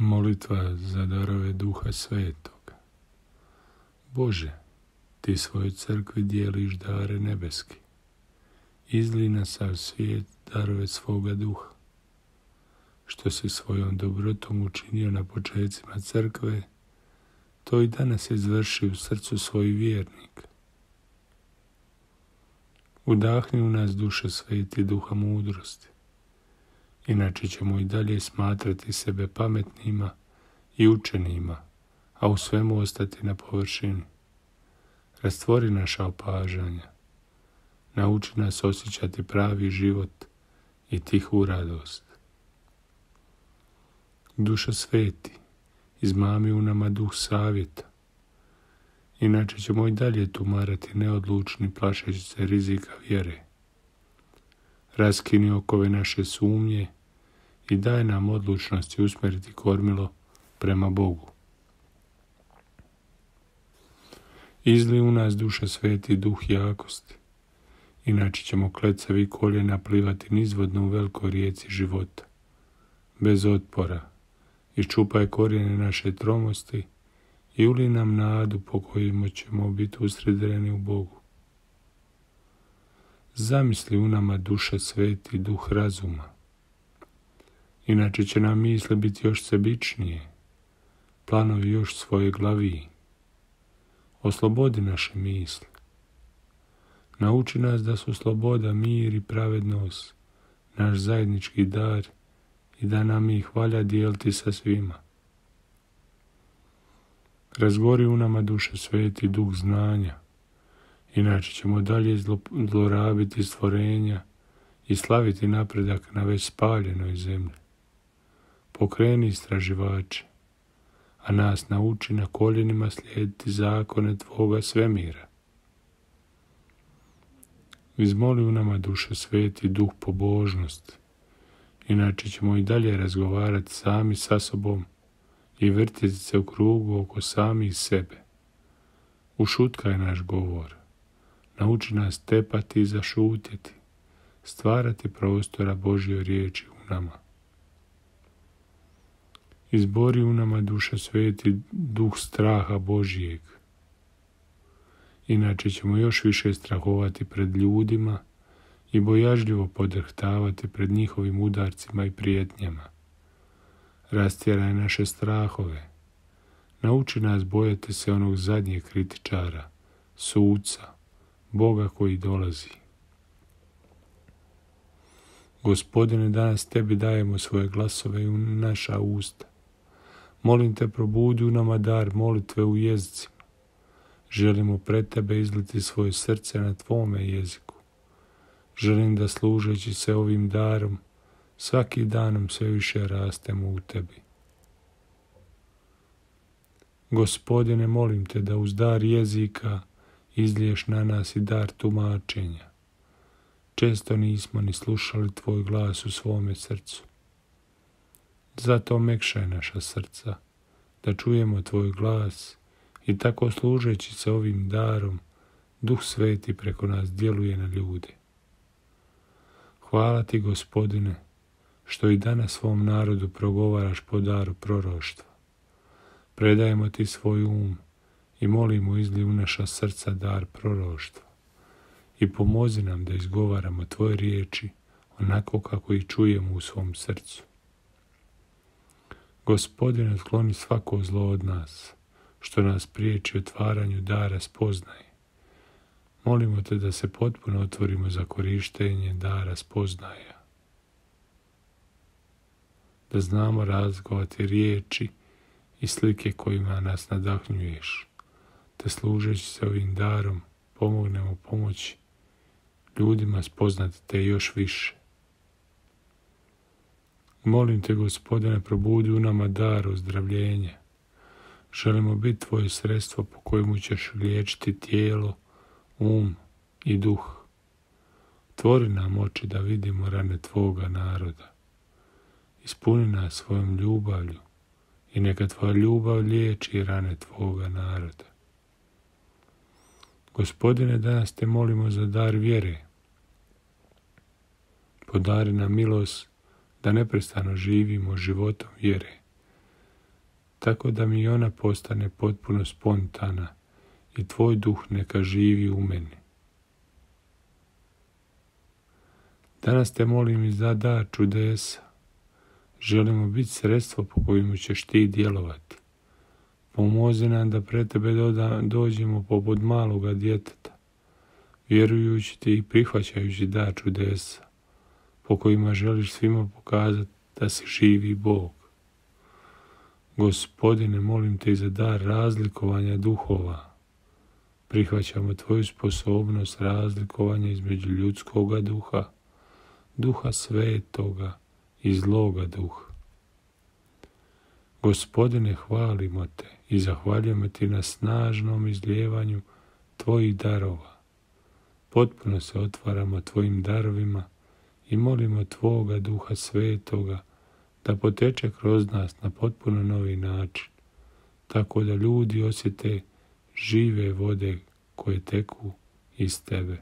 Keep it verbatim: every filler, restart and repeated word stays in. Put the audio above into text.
Molitva za darove Duha Svetog. Bože, Ti svojoj crkvi dijeliš dare nebeski. Izlij na sav svijet darove svoga duha. Što si svojom dobrotom učinio na počecima crkve, to i danas izvrši u srcu svojih vjernika. Udahni u nas, Duše Sveti, duha mudrosti. Inače ćemo i dalje smatrati sebe pametnima i učenima, a u svemu ostati na površini. Rastvori naša opažanja. Nauči nas osjećati pravi život i tihu radost. Duša Sveti, izmami u nama duh savjeta. Inače ćemo i dalje tumarati neodlučni, plašeći se rizika vjere. Raskini okove naše sumnje i daj nam odlučnosti usmjeriti kormilo prema Bogu. Izli u nas, Duša Sveti, duh jakosti. Inače ćemo klecavi koljena plivati nizvodno u velikoj rijeci života, bez otpora. Iščupaj korijene naše tromosti i uli nam nadu po kojima ćemo biti usredreni u Bogu. Zamisli u nama, Duša Sveti, duh razuma. Inače će nam misle biti još sebičnije, planovi još svoje glaviji. Oslobodi naše misli. Nauči nas da su sloboda, mir i pravednost naš zajednički dar i da nam ih valja dijeliti sa svima. Razgori u nama, Duše Sveti, duh znanja. Inače ćemo dalje zlorabiti stvorenja i slaviti napredak na već spaljenoj zemlji. Pokreni istraživače, a nas nauči na koljenima slijediti zakone Tvoga svemira. Izmoli u nama, Duše Sveti, duh pobožnosti. Inače ćemo i dalje razgovarati sami sa sobom i vrtjeti se u krugu oko samih sebe. Ušutkaj naš govor. Nauči nas tepati i zašutjeti, stvarati prostora Božje riječi u nama. Izbori u nama, Duša Sveti, duh straha Božijeg. Inače ćemo još više strahovati pred ljudima i bojažljivo podrhtavati pred njihovim udarcima i prijetnjama. Rastjeraj naše strahove. Nauči nas bojati se onog zadnjeg kritičara, suca, Boga koji dolazi. Gospodine, danas Tebi dajemo svoje glasove i u naša usta. Molim Te, probudi u nama dar molitve u jezicima. Želimo pred Tebe izliti svoje srce na Tvome jeziku. Želim da služeći se ovim darom, svaki danom sve više rastemo u Tebi. Gospodine, molim Te da uz dar jezika izliješ na nas i dar tumačenja. Često nismo ni slušali Tvoj glas u svome srcu. Zato mekšaj naša srca, da čujemo Tvoj glas i tako služeći se ovim darom, Duh Sveti preko nas djeluje na ljude. Hvala Ti, Gospodine, što i danas svom narodu progovaraš po daru proroštva. Predajemo Ti svoj um i molimo izlij u naša srca dar proroštva i pomozi nam da izgovaramo Tvoje riječi onako kako ih čujemo u svom srcu. Gospodine, skloni svako zlo od nas, što nas priječi otvaranju dara spoznaje. Molimo Te da se potpuno otvorimo za korištenje dara spoznaja. Da znamo razlikovati riječi i slike kojima nas nadahnjuješ, te služeći se ovim darom pomognemo pomoći ljudima spoznati Te još više. Molim Te, Gospodine, probudi u nama dar ozdravljenja. Želimo biti Tvoje sredstvo po kojemu ćeš liječiti tijelo, um i duh. Tvori nam oči da vidimo rane Tvoga naroda. Ispuni nas svojom ljubavlju i neka Tvoja ljubav liječi rane Tvoga naroda. Gospodine, danas Te molimo za dar vjere. Podari nam milost da neprestano živimo životom vjere tako da mi ona postane potpuno spontana i tvoj duh neka živi u meni. Danas te molim i za dar čudesa. Želimo biti sredstvo po kojemu ćeš ti djelovati. Pomozi nam da pred tebe dođemo poput maloga djeteta, vjerujući ti i prihvaćajući dar čudesa, po kojima želiš svima pokazati da si živi Bog. Gospodine, molim te i za dar razlikovanja duhova. Prihvaćamo tvoju sposobnost razlikovanja između ljudskoga duha, duha svetoga i zloga duha. Gospodine, hvalimo te i zahvaljujemo ti na snažnom izlijevanju tvojih darova. Potpuno se otvaramo tvojim darovima i molimo tvoga duha svetoga da poteče kroz nas na potpuno novi način, tako da ljudi osjete žive vode koje teku iz tebe.